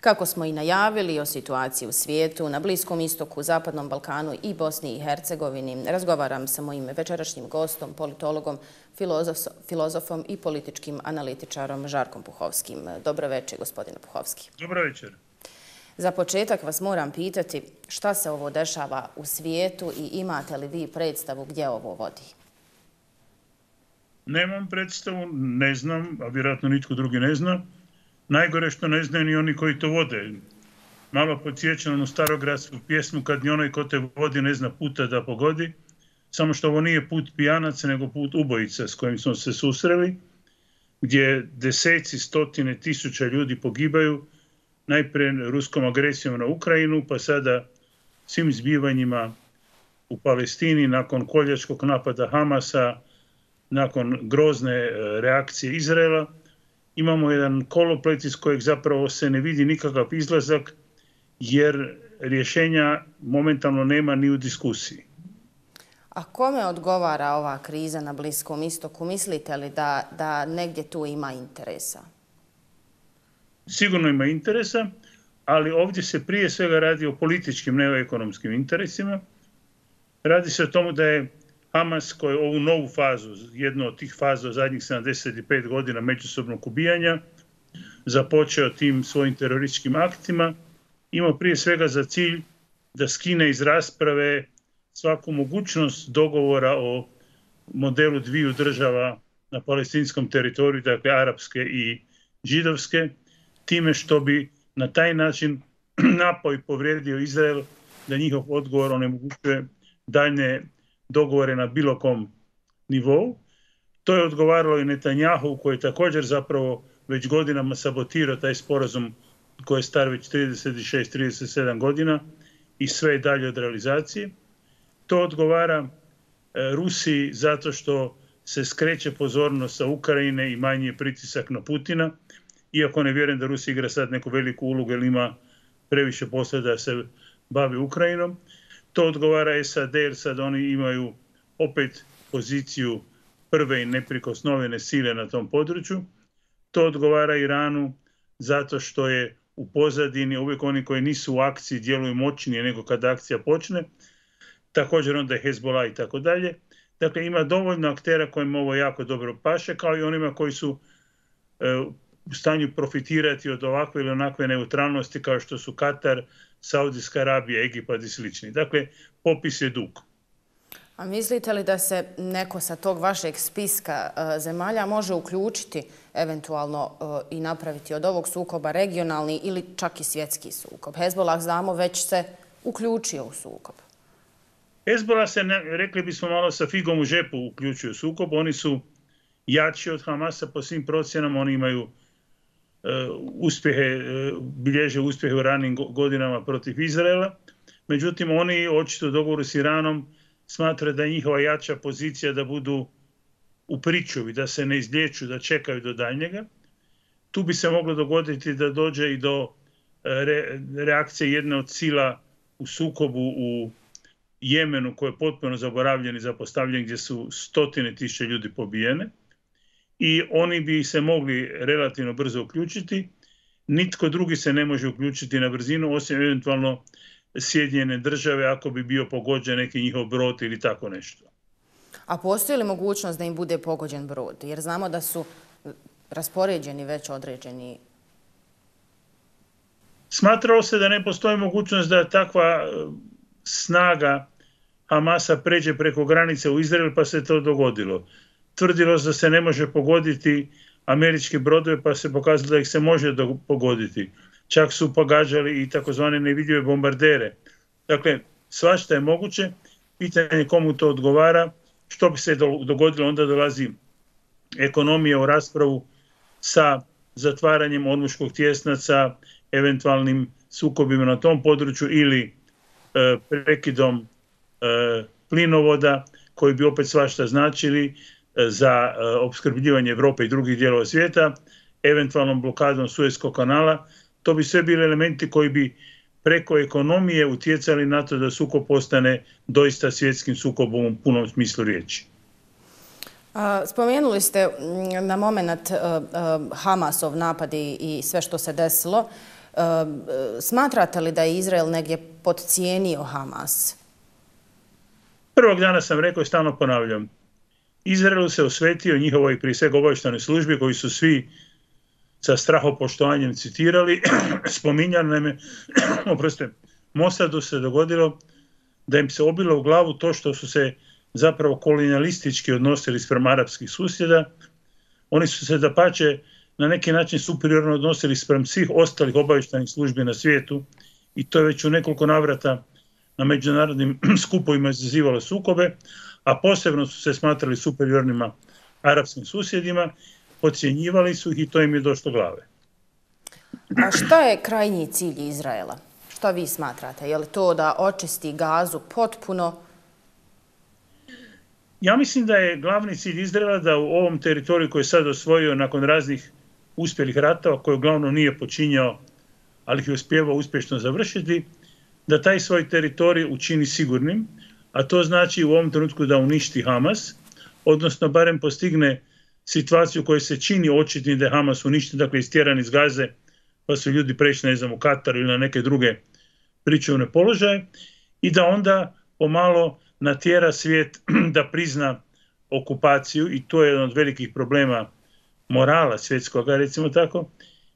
Kako smo i najavili o situaciji u svijetu, na Bliskom istoku, Zapadnom Balkanu i Bosni i Hercegovini, razgovaram sa mojim večerašnjim gostom, politologom, filozofom i političkim analitičarom Žarkom Puhovskim. Dobro večer, gospodine Puhovski. Dobro večer. Za početak vas moram pitati šta se ovo dešava u svijetu i imate li vi predstavu gdje ovo vodi? Nemam predstavu, ne znam, a vjerojatno nitko drugi ne zna. Najgore što ne znaju ni oni koji to vode. Malo podsjećam onu starogradsku pjesmu kad ni onaj ko te vodi ne zna puta da pogodi. Samo što ovo nije put pijanaca, nego put ubojica s kojim smo se susreli, gdje deseci, stotine tisuća ljudi pogibaju, najprije ruskom agresijom na Ukrajinu, pa sada svim zbivanjima u Palestini nakon koljačkog napada Hamasa, nakon grozne reakcije Izraela. Imamo jedan koloplet iz kojeg zapravo se ne vidi nikakav izlazak, jer rješenja momentalno nema ni u diskusiji. A kome odgovara ova kriza na Bliskom istoku? Mislite li da negdje tu ima interesa? Sigurno ima interesa, ali ovdje se prije svega radi o političkim, ne o ekonomskim interesima. Radi se o tomu da je Hamas, koji ovu novu fazu, jednu od tih faza u zadnjih 75 godina međusobnog ubijanja, započeo tim svojim terorističkim aktima, imao prije svega za cilj da skine iz rasprave svaku mogućnost dogovora o modelu dviju država na palestinskom teritoriju, dakle arapske i židovske, time što bi na taj način napao i povrijedio Izrael da njihov odgovor onemogućuje daljne dogovore na bilo kom nivou. To je odgovaralo i Netanjahu, koji je također zapravo već godinama sabotirao taj sporazum koji je star već 36-37 godina i sve je dalje od realizacije. To odgovara Rusiji zato što se skreće pozornost sa Ukrajine i manji je pritisak na Putina, iako ne vjerujem da Rusija igra sad neku veliku ulogu jer ima previše posla da se bavi Ukrajinom. To odgovara SAD jer sad oni imaju opet poziciju prve i neprikosnovene sile na tom području. To odgovara Iranu zato što je u pozadini uvijek oni koji nisu u akciji djeluju moćnije nego kad akcija počne. Također onda je Hezbollah i tako dalje. Dakle, ima dovoljno aktera kojima ovo jako dobro paše, kao i onima koji su u stanju profitirati od ovakve ili onakve neutralnosti kao što su Katar, Saudijska Arabija, Egipat i slični. Dakle, popis je dug. A mislite li da se neko sa tog vašeg spiska zemalja može uključiti eventualno i napraviti od ovog sukoba regionalni ili čak i svjetski sukob? Hezbollah, znamo, već se uključio u sukob. Hezbollah se, rekli bismo malo sa figom u džepu, uključio u sukob. Oni su jači od Hamasa po svim procjenama, oni imaju bilježe uspjehe u ranim godinama protiv Izraela. Međutim, oni očito u dogovoru s Iranom smatraju da je njihova jača pozicija da budu u pričuvi, da se ne izliječu, da čekaju do daljnjega. Tu bi se moglo dogoditi da dođe i do reakcije jedne od sila u sukobu u Jemenu, koji je potpuno zaboravljen i zapostavljen, gdje su stotine tisuća ljudi pobijene. I oni bi se mogli relativno brzo uključiti. Nitko drugi se ne može uključiti na brzinu, osim eventualno Sjedinjene Države ako bi bio pogođen neki njihov brod ili tako nešto. A postoji li mogućnost da im bude pogođen brod? Jer znamo da su raspoređeni već određeni. Smatralo se da ne postoji mogućnost da takva snaga Hamasa pređe preko granice u Izrael, pa se to dogodilo. Tvrdilo se da se ne može pogoditi američke brodove, pa se pokazalo da ih se može pogoditi. Čak su pogađali i takozvane nevidljive bombardere. Dakle, svašta je moguće. Pitanje komu to odgovara. Što bi se dogodilo, onda dolazi ekonomija u raspravu sa zatvaranjem Ormuškog tjesnaca, eventualnim sukobima na tom području ili prekidom plinovoda koji bi opet svašta značili za opskrbljivanje Europe i drugih dijelova svijeta, eventualnom blokadom Suezkog kanala. To bi sve bili elementi koji bi preko ekonomije utjecali na to da sukob postane doista svjetskim sukobom u punom smislu riječi. Spomenuli ste na moment Hamasov napad i sve što se desilo. Smatrate li da je Izrael negdje podcijenio Hamas? Prvog dana sam rekao i stalno ponavljam. Izraelu se osvetio njihovoj prije svega obavještajnoj službi koji su svi sa strahopoštovanjem citirali, spominjali. Naime, oprostite, Mosadu se dogodilo da im se obilo u glavu to što su se zapravo kolonijalistički odnosili spram arapskih susjeda. Oni su se dapače na neki način superiorno odnosili spram svih ostalih obavještajnih službi na svijetu i to je već u nekoliko navrata na međunarodnim skupovima izazivalo sukobe, a posebno su se smatrali superiornima arapskim susjedima, podcjenjivali su ih i to im je došlo glave. A šta je krajnji cilj Izraela? Šta vi smatrate? Je li to da očisti Gazu potpuno? Ja mislim da je glavni cilj Izraela da u ovom teritoriju koji je sad osvojio nakon raznih uspjelih ratova, koje uglavnom nije počinjao, ali ih je uspjevao uspješno završiti, da taj svoj teritorij učini sigurnim, a to znači u ovom trenutku da uništi Hamas, odnosno barem postigne situaciju u kojoj se čini očitnim da je Hamas uništen, dakle istjeran iz Gaze, pa su ljudi prešli, ne znam, u Katar ili na neke druge pričuvne položaje, i da onda pomalo natjera svijet da prizna okupaciju, i to je jedan od velikih problema morala svjetskoga, recimo tako,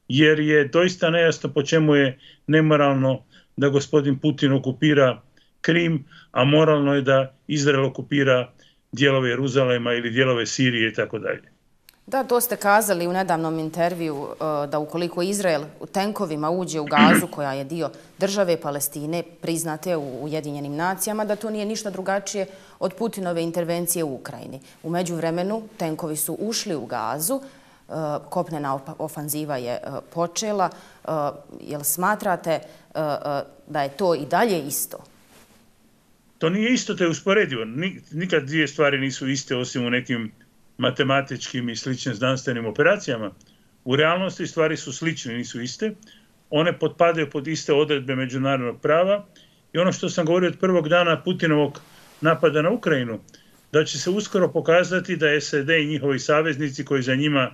jer je doista nejasno po čemu je nemoralno da gospodin Putin okupira Krim, a moralno je da Izrael okupira dijelove Jeruzalema ili dijelove Sirije i tako dalje. Da, to ste kazali u nedavnom intervju da ukoliko Izrael u tenkovima uđe u Gazu, koja je dio države Palestine, priznate u Ujedinjenim nacijama, da to nije ništa drugačije od Putinove intervencije u Ukrajini. U međuvremenu tenkovi su ušli u Gazu, kopnena ofanziva je počela. Jel smatrate da je to i dalje isto? To nije isto, to je usporedivo. Nikad dvije stvari nisu iste osim u nekim matematičkim i sličnim znanstvenim operacijama. U realnosti stvari su slične, nisu iste. One potpadaju pod iste odredbe međunarodnog prava i ono što sam govorio od prvog dana Putinovog napada na Ukrajinu, da će se uskoro pokazati da SAD i njihovi saveznici koji za njima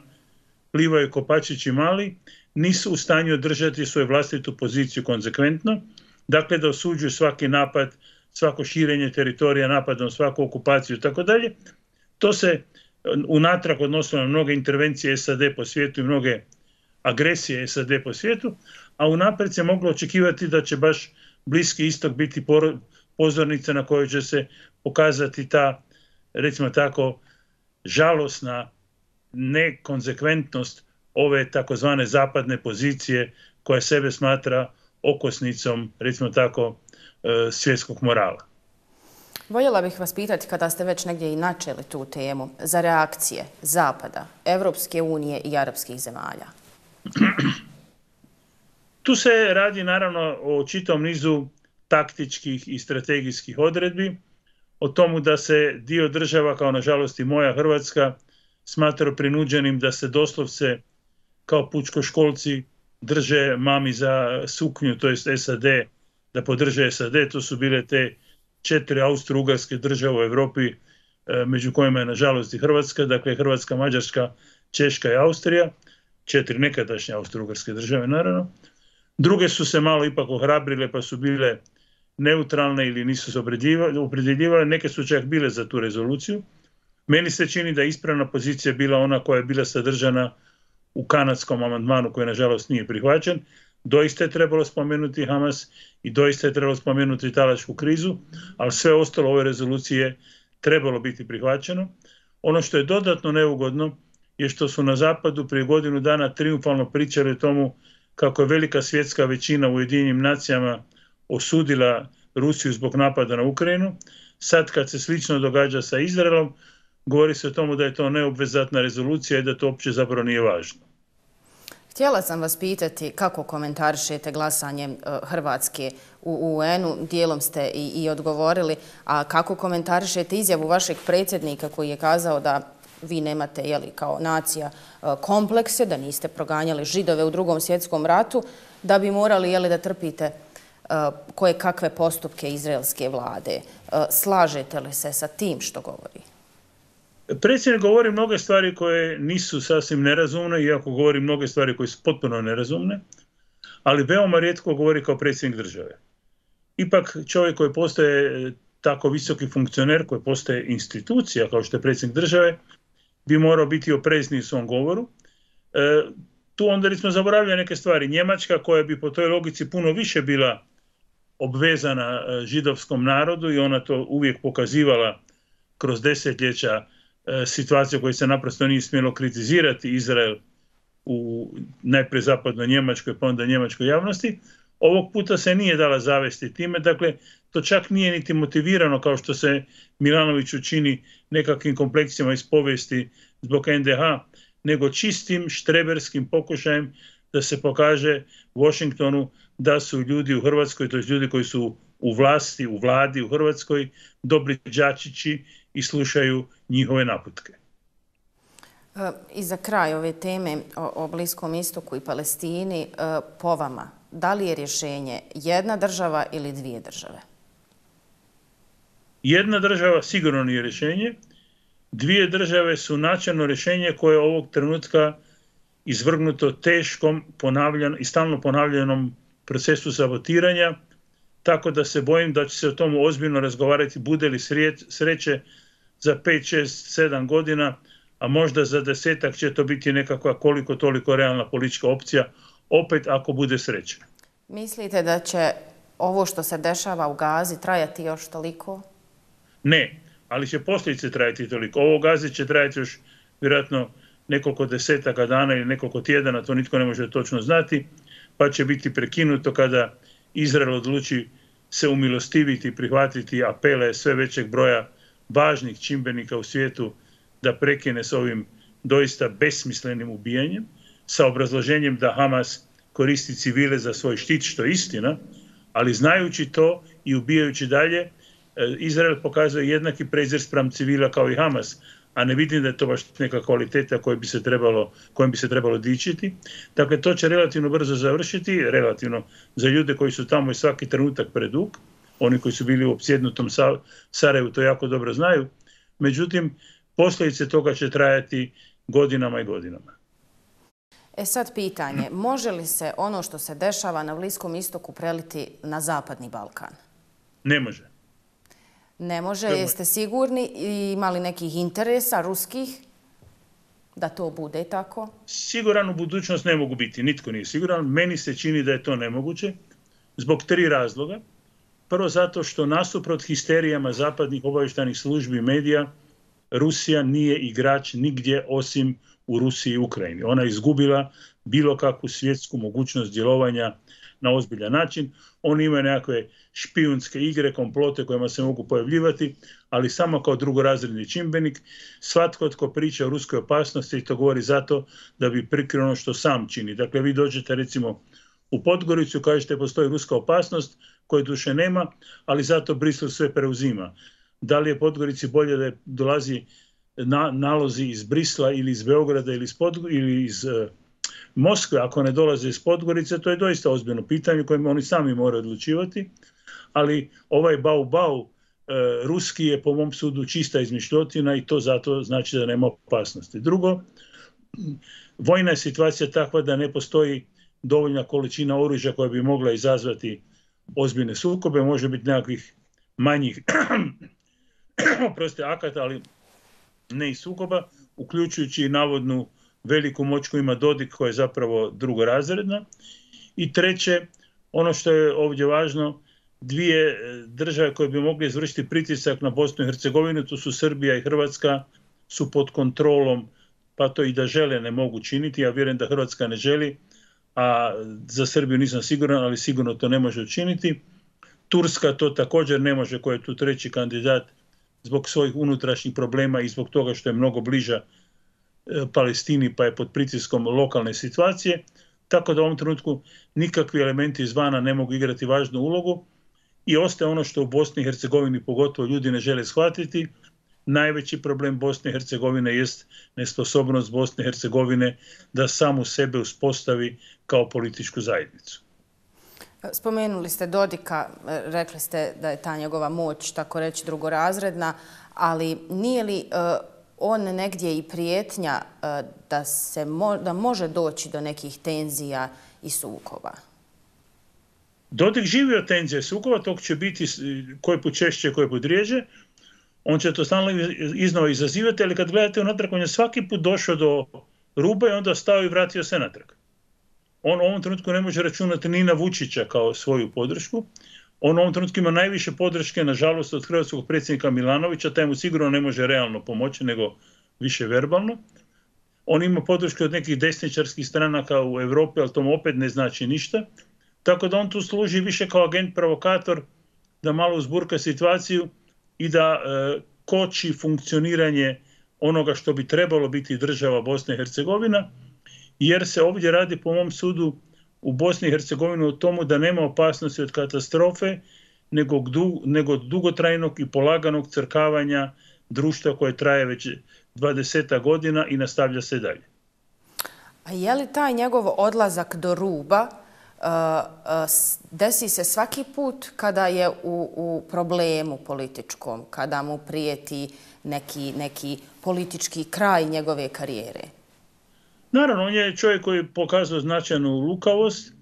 plivaju kopačići mali, nisu u stanju održati svoju vlastitu poziciju konzekventno, dakle da osuđuju svaki napad, svako širenje teritorija napadom, svaku okupaciju i tako dalje. To se unatrag odnosilo na mnoge intervencije SAD po svijetu i mnoge agresije SAD po svijetu, a unaprijed se moglo očekivati da će baš Bliski istok biti pozornica na kojoj će se pokazati ta, recimo tako, žalosna nekonzekventnost ove takozvane zapadne pozicije koja sebe smatra okosnicom, recimo tako, svjetskog morala. Voljela bih vas pitati, kada ste već negdje i načeli tu temu, za reakcije Zapada, Evropske unije i arapskih zemalja. Tu se radi naravno o čitavom nizu taktičkih i strategijskih odredbi, o tomu da se dio država, kao nažalost i moja Hrvatska, smatra prinuđenim da se doslovce kao pučkoškolci drže mami za suknju, to jest SAD, da podrže SAD. To su bile te 4 austro-ugarske države u Europi, među kojima je nažalost i Hrvatska, dakle Hrvatska, Mađarska, Češka i Austrija, 4 nekadašnje austro-ugarske države naravno. Druge su se malo ipak ohrabrile pa su bile neutralne ili nisu se opredjeljivale, neke su čak bile za tu rezoluciju. Meni se čini da je ispravna pozicija bila ona koja je bila sadržana u kanadskom amandmanu koji nažalost nije prihvaćen. Doista je trebalo spomenuti Hamas i doista je trebalo spomenuti talačku krizu, ali sve ostalo ove rezolucije trebalo biti prihvaćeno. Ono što je dodatno neugodno je što su na zapadu prije godinu dana triumfalno pričali o tomu kako je velika svjetska većina u Ujedinjenim nacijama osudila Rusiju zbog napada na Ukrajinu. Sad kad se slično događa sa Izraelom, govori se o tomu da je to neobvezatna rezolucija i da to uopće zapravo nije važno. Htjela sam vas pitati kako komentarišete glasanje Hrvatske u UN-u, dijelom ste i odgovorili, a kako komentarišete izjavu vašeg predsjednika koji je kazao da vi nemate kao nacija komplekse, da niste proganjali Židove u Drugom svjetskom ratu, da bi morali da trpite koje kakve postupke izraelske vlade. Slažete li se sa tim što govori? Predsjednik govori mnoge stvari koje nisu sasvim nerazumne, iako govori mnoge stvari koje su potpuno nerazumne, ali veoma rijetko govori kao predsjednik države. Ipak čovjek koji postaje tako visoki funkcioner, koji postaje institucija kao što je predsjednik države, bi morao biti oprezniji u svom govoru. Tu onda recimo zaboravlja neke stvari. Njemačka, koja bi po toj logici puno više bila obvezana židovskom narodu i ona to uvijek pokazivala kroz desetljeća, situacije koje se naprosto nije smjelo kritizirati Izrael u najprije zapadnoj Njemačkoj pa onda njemačkoj javnosti, ovog puta se nije dala zavesti time. Dakle, to čak nije niti motivirano kao što se Milanoviću čini nekakvim kompleksima iz povijesti zbog NDH, nego čistim štreberskim pokušajem da se pokaže Washingtonu da su ljudi u Hrvatskoj, to je ljudi koji su u vlasti, u vladi u Hrvatskoj, dobri đačići i slušaju njihove naputke. I za kraj ove teme o Bliskom istoku i Palestini, po vama, da li je rješenje jedna država ili dvije države? Jedna država sigurno nije rješenje. Dvije države su načelno rješenje koje je ovog trenutka izvrgnuto teškom i stalno ponavljanom procesu sabotiranja, tako da se bojim da će se o tomu ozbiljno razgovarati bude li sreće za 5, 6, 7 godina, a možda za 10-ak će to biti nekakva koliko toliko realna politička opcija, opet ako bude sreće. Mislite da će ovo što se dešava u Gazi trajati još toliko? Ne, ali će posljedice trajati toliko. Ovo u Gazi će trajati još vjerojatno nekoliko desetaka dana ili nekoliko tjedana, to nitko ne može točno znati, pa će biti prekinuto kada Izrael odluči se umilostiviti i prihvatiti apele sve većeg broja važnih čimbenika u svijetu da prekine s ovim doista besmislenim ubijanjem, sa obrazloženjem da Hamas koristi civile za svoj štit, što je istina, ali znajući to i ubijajući dalje, Izrael pokazuje jednaki prezir spram civila kao i Hamas, a ne vidim da je to baš neka kvaliteta kojom bi se trebalo dičiti. Dakle, to će relativno brzo završiti, relativno za ljude koji su tamo i svaki trenutak predug, oni koji su bili u opsjednutom Sarajevu to jako dobro znaju, međutim, posljedice toga će trajati godinama i godinama. Sad pitanje, može li se ono što se dešava na Bliskom istoku preliti na Zapadni Balkan? Ne može. Ne može, jeste sigurni? Imali nekih interesa ruskih da to bude tako? Siguran u budućnost ne mogu biti, nitko nije siguran. Meni se čini da je to nemoguće zbog 3 razloga. Prvo zato što nasuprot histerijama zapadnih obavještajnih službi i medija, Rusija nije igrač nigdje osim u Rusiji i Ukrajini. Ona je izgubila bilo kakvu svjetsku mogućnost djelovanja na ozbiljan način. Oni imaju nekakve špijunske igre, komplote kojima se mogu pojavljivati, ali samo kao drugorazredni čimbenik. Svatko tko priča o ruskoj opasnosti i to govori zato da bi prikrio ono što sam čini. Dakle, vi dođete recimo u Podgoricu, kažete postoji ruska opasnost koje duše nema, ali zato Brisel sve preuzima. Da li je Podgorici bolje da dolazi nalozi iz Brisla ili iz Beograda ili iz Moskve, ako ne dolaze iz Podgorice, to je doista ozbiljno pitanje koje oni sami moraju odlučivati, ali ovaj bau ruski je po mom sudu čista izmišljotina i to zato znači da nema opasnosti. Drugo, vojna je situacija takva da ne postoji dovoljna količina oružja koja bi mogla izazvati ozbiljne sukobe, može biti nekakvih manjih akata, ali ne i sukoba, uključujući i navodnu veliku moć koju ima Dodik, koja je zapravo drugorazredna. I treće, ono što je ovdje važno, 2 države koje bi mogle izvršiti pritisak na Bosnu i Hercegovinu, to su Srbija i Hrvatska, su pod kontrolom, pa to i da žele ne mogu činiti. Ja vjerujem da Hrvatska ne želi, a za Srbiju nisam siguran, ali sigurno to ne može učiniti. Turska to također ne može, koja je tu 3. kandidat zbog svojih unutrašnjih problema i zbog toga što je mnogo bliža Palestini pa je pod pritiskom lokalne situacije. Tako da u ovom trenutku nikakvi elementi izvana ne mogu igrati važnu ulogu i ostaje ono što u Bosni i Hercegovini pogotovo ljudi ne žele shvatiti. Najveći problem Bosne i Hercegovine jest nesposobnost Bosne i Hercegovine da samu sebe uspostavi kao političku zajednicu. Spomenuli ste Dodika, rekli ste da je ta njegova moć, tako reći, drugorazredna, ali nije li on negdje i prijetnja da može doći do nekih tenzija i sukoba? Dodik živi od tenzije sukoba, tog će biti koji put češće, koji put rijeđe. On će to stalno iznova izazivati, ali kad gledate unatrag, on je svaki put došao do ruba i onda stao i vratio se natrag. On u ovom trenutku ne može računati ni na Vučića kao svoju podršku. On u ovom trenutku ima najviše podrške, nažalost, od hrvatskog predsjednika Milanovića, taj mu sigurno ne može realno pomoći, nego više verbalno. On ima podršku od nekih desničarskih stranaka u Europi, ali to mu opet ne znači ništa. Tako da on tu služi više kao agent provokator, da malo uzburka situaciju i da koči funkcioniranje onoga što bi trebalo biti država Bosna i Hercegovina, jer se ovdje radi, po mom sudu, u Bosni i Hercegovini o tomu da nema opasnosti od katastrofe, nego dugotrajnog i polaganog crkavanja društva koje traje već 20 godina i nastavlja se dalje. A je li taj njegov odlazak do ruba desi se svaki put kada je u problemu političkom, kada mu prijeti neki politički kraj njegove karijere? Naravno, on je čovjek koji pokazao značajnu lukavost.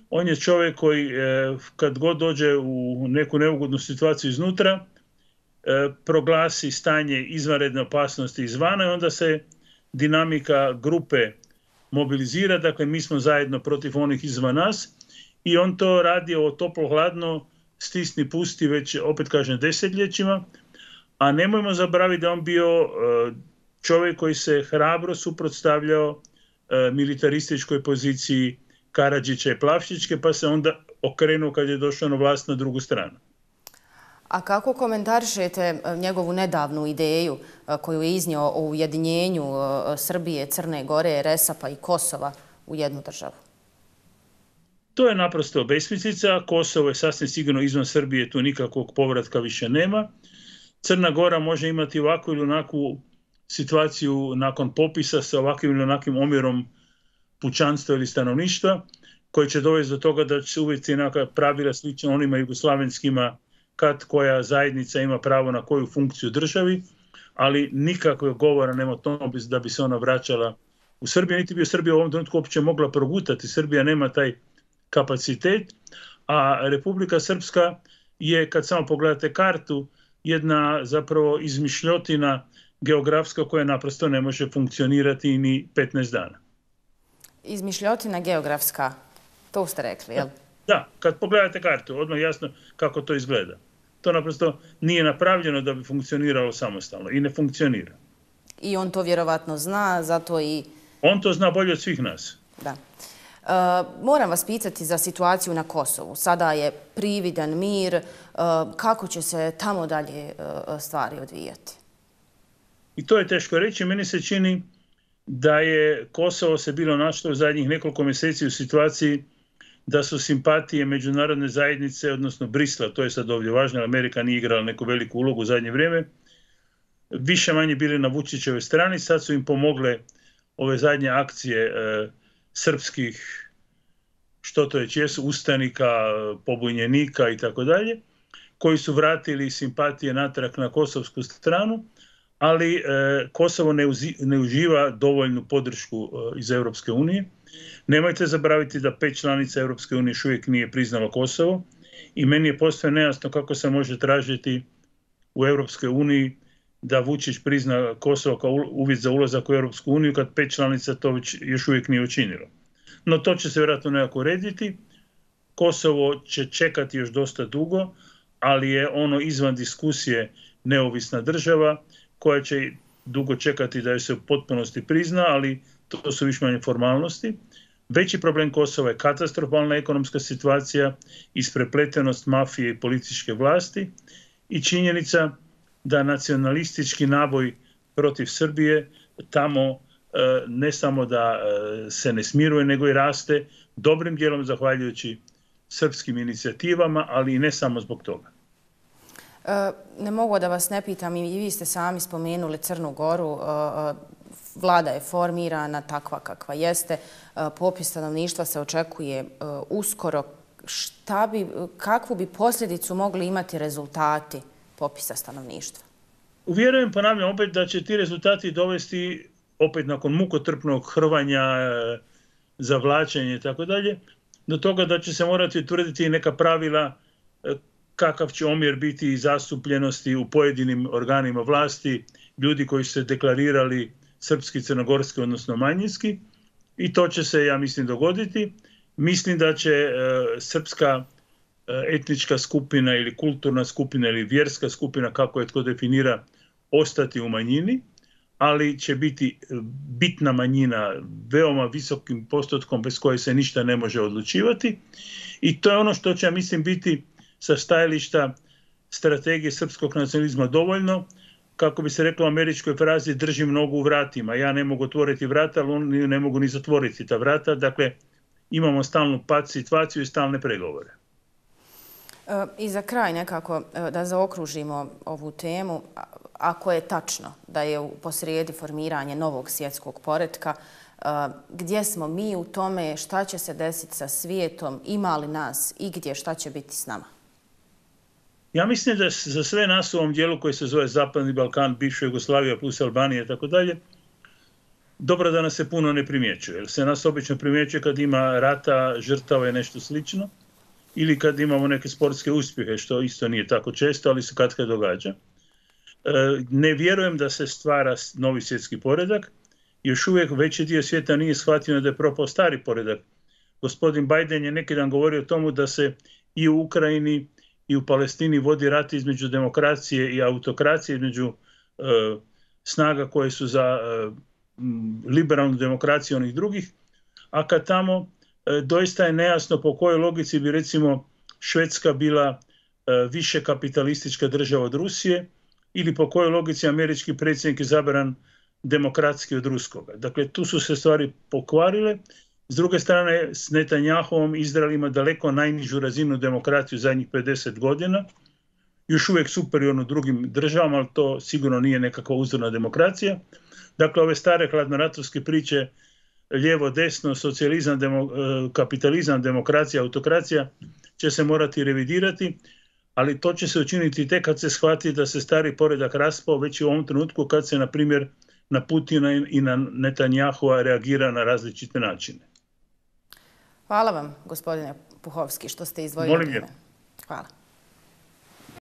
On je čovjek koji kad god dođe u neku neugodnu situaciju iznutra, proglasi stanje izvanredne opasnosti izvana i onda se dinamika grupe mobilizira. Dakle, mi smo zajedno protiv onih izvan nas i on to radi toplo-hladno, stisni pusti već, opet kažem, desetljećima. A nemojmo zaboraviti da on bio čovjek koji se hrabro suprotstavljao militarističkoj poziciji Karadžića i Plavšićke, pa se onda okrenuo kad je došao na vlast na drugu stranu. A kako komentarišete njegovu nedavnu ideju koju je iznio o ujedinjenju Srbije, Crne Gore, Resapa i Kosova u jednu državu? To je naprosto besmislica. Kosovo je sasvim sigurno izvan Srbije, tu nikakvog povratka više nema. Crna Gora može imati ovakvu ili onakvu situaciju nakon popisa sa ovakvim ili onakvim omjerom pučanstva ili stanovništva, koji će dovesti do toga da će se uvesti neka pravila slično onima jugoslavenskima, kad koja zajednica ima pravo na koju funkciju u državi, ali nikakvog govora nema o tome da bi se ona vraćala u Srbiju, niti bi Srbija u ovom trenutku uopće mogla progutati. Srbija nema taj kapacitet, a Republika Srpska je, kad samo pogledate kartu, jedna zapravo izmišljotina geografska koja naprosto ne može funkcionirati ni 15 dana. Izmišljotina geografska, to ste rekli, jel? Da, kad pogledate kartu, odmah jasno kako to izgleda. To naprosto nije napravljeno da bi funkcioniralo samostalno i ne funkcionira. I on to vjerovatno zna, zato i... On to zna bolje od svih nas. Da. Moram vas pitati za situaciju na Kosovu. Sada je prividan mir. Kako će se tamo dalje stvari odvijati? I to je teško reći. Meni se čini da je Kosovo se bilo našlo u zadnjih nekoliko mjeseci u situaciji da su simpatije međunarodne zajednice, odnosno Brisla, to je sad ovdje važno, jer Amerika nije igrala neku veliku ulogu u zadnje vrijeme, više manje bili na Vučićevoj strani. Sad su im pomogle ove zadnje akcije srpskih, što to već jesu, ustanika, pobunjenika i tako dalje, koji su vratili simpatije natrag na kosovsku stranu, ali Kosovo ne uživa dovoljnu podršku iz Europske unije. Nemojte zaboraviti da 5 članica Europske unije još uvijek nije priznalo Kosovo i meni je posve nejasno kako se može tražiti u Europskoj uniji da Vučić prizna Kosovo kao uvjet za ulazak u Europsku uniju kad 5 članica to još uvijek nije učinilo. No to će se vjerojatno nekako urediti. Kosovo će čekati još dosta dugo, ali je ono izvan diskusije neovisna država koja će dugo čekati da joj se u potpunosti prizna, ali to su više manje formalnosti. Veći problem Kosova je katastrofalna ekonomska situacija, isprepletenost mafije i političke vlasti i činjenica da nacionalistički naboj protiv Srbije tamo ne samo da se ne smiruje, nego i raste, dobrim dijelom zahvaljujući srpskim inicijativama, ali i ne samo zbog toga. Ne mogu da vas ne pitam, i vi ste sami spomenuli Crnu Goru, vlada je formirana takva kakva jeste, popis stanovništva se očekuje uskoro. Kakvu bi posljedicu mogli imati rezultati popisa stanovništva? Uvjerujem, ponavljam opet, da će ti rezultati dovesti, opet nakon mukotrpnog hrvanja, zavlačenja i tako dalje, do toga da će se morati utvrditi neka pravila kakav će omjer biti zastupljenosti u pojedinim organima vlasti, ljudi koji su se deklarirali srpski, crnogorski, odnosno manjinski. I to će se, ja mislim, dogoditi. Mislim da će srpska etnička skupina ili kulturna skupina ili vjerska skupina, kako je tko definira, ostati u manjini, ali će biti bitna manjina veoma visokim postotkom bez koje se ništa ne može odlučivati. I to je ono što će, ja mislim, biti sa stajališta strategije srpskog nacionalizma dovoljno, kako bi se reklo u američkoj frazi, držim nogu u vratima. Ja ne mogu otvoriti vrata, ali oni ne mogu ni zatvoriti ta vrata. Dakle, imamo stalnu pad situaciju i stalne pregovore. I za kraj nekako da zaokružimo ovu temu, ako je tačno da je posrijedi formiranje novog svjetskog poretka, gdje smo mi u tome, šta će se desiti sa svijetom, ima li nas i gdje, šta će biti s nama? Ja mislim da za sve nas u ovom dijelu koji se zove Zapadni Balkan, bivša Jugoslavija plus Albanija i tako dalje, dobro da nas se puno ne primjećuje. Jer se nas obično primjećuje kad ima rata, žrtava i nešto slično, ili kad imamo neke sportske uspjehe, što isto nije tako često, ali se kad događa. Ne vjerujem da se stvara novi svjetski poredak. Još uvijek veći dio svijeta nije shvatio da je propao stari poredak. Gospodin Biden je neki dan govorio o tomu da se i u Ukrajini i u Palestini vodi rat između demokracije i autokracije, između snaga koje su za liberalnu demokraciju onih drugih, a kad tamo doista je nejasno po kojoj logici bi recimo Švedska bila više kapitalistička država od Rusije ili po kojoj logici američki predsjednik je izabran demokratski od ruskoga. Dakle, tu su se stvari pokvarile. S druge strane, s Netanjahovom Izrael ima daleko najnižu razinu demokraciju zadnjih 50 godina. Još uvijek superiorno drugim državama, ali to sigurno nije nekakva uzorna demokracija. Dakle, ove stare hladnoratovske priče, lijevo, desno, socijalizam, kapitalizam, demokracija, autokracija, će se morati revidirati, ali to će se učiniti tek kad se shvati da se stari poredak raspao, već u ovom trenutku kad se, na primjer, na Putina i na Netanjahova reagira na različite načine. Hvala vam, gospodine Puhovski, što ste izdvojili vrijeme. Hvala.